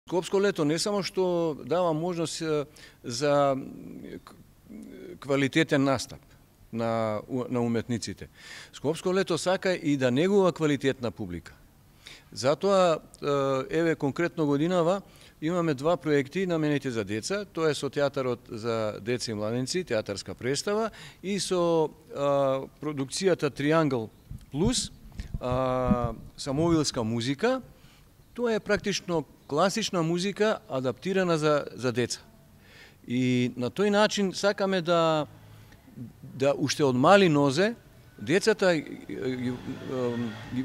Скопско лето не само што дава можност за квалитетен настап на уметниците. Скопско лето сака и да негува квалитетна публика. Затоа, еве конкретно годинава, имаме два проекти наменети за деца. Тоа е со театарот за деца и младенци, театарска представа, и со продукцијата Триангл Плюс, самовилска музика. Тоа е практично класична музика адаптирана за деца. И на тој начин сакаме да уште од мали нозе децата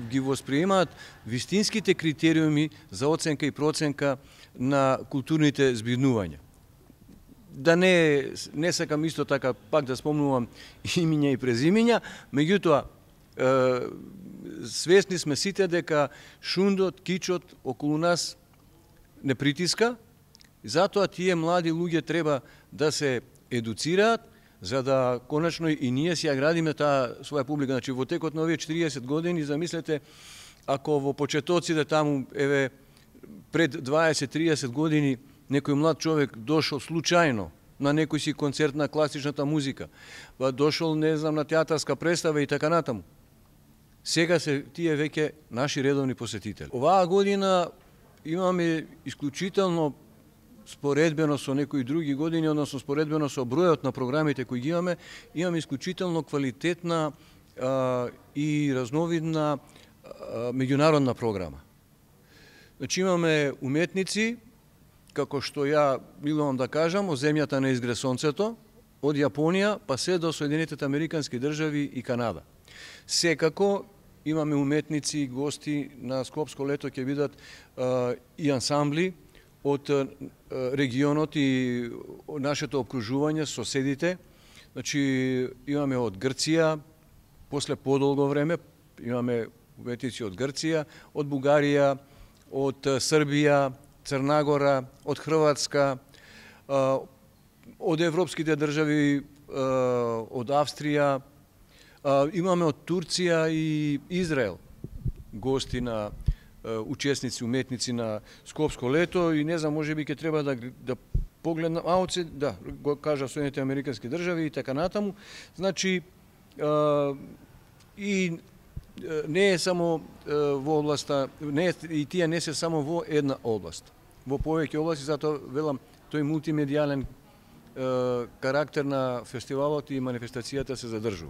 ги восприемаат вистинските критериуми за оценка и проценка на културните збирнувања. Да не сакам исто така пак да спомнувам имиња и презимиња, меѓутоа свесни сме сите дека шундот, кичот околу нас не притиска, затоа тие млади луѓе треба да се едуцираат, за да конечно и ние си ја градиме таа своја публика. Значи во текот на овие 40 години, замислете, ако во почетоците таму, еве, пред 20-30 години, некој млад човек дошол случајно на некој си концерт на класичната музика, дошол, не знам, на театарска представа и така натаму. Сега се тие веќе наши редовни посетители. Оваа година имаме исклучително споредбено со некои други години, односно споредбено со бројот на програмите кои ги имаме исклучително квалитетна и разновидна меѓународна програма. Значи имаме уметници, како што ја милувам да кажам, од земјата на изгре сонцето, од Јапонија па се до Соединетите Американски држави и Канада. Секако имаме уметници и гости на Скопско лето, ќе бидат и ансамбли од регионот и нашето окружување, соседите. Значи имаме од Грција, после подолго време имаме уметници од Грција, од Бугарија, од Србија, Црнагора, од Хрватска, од европските држави, од Австрија, имаме од Турција и Израел гости на учесници, уметници на Скопско лето, и не знам, можеби ќе треба да погледнам, да, го кажа Соединетите Американски држави и така натаму. Значи, и не е само во областа, и тие не се само во една област, во повеќе области, затоа велам, тој мултимедијален карактер на фестивалот и манифестацијата се задржува.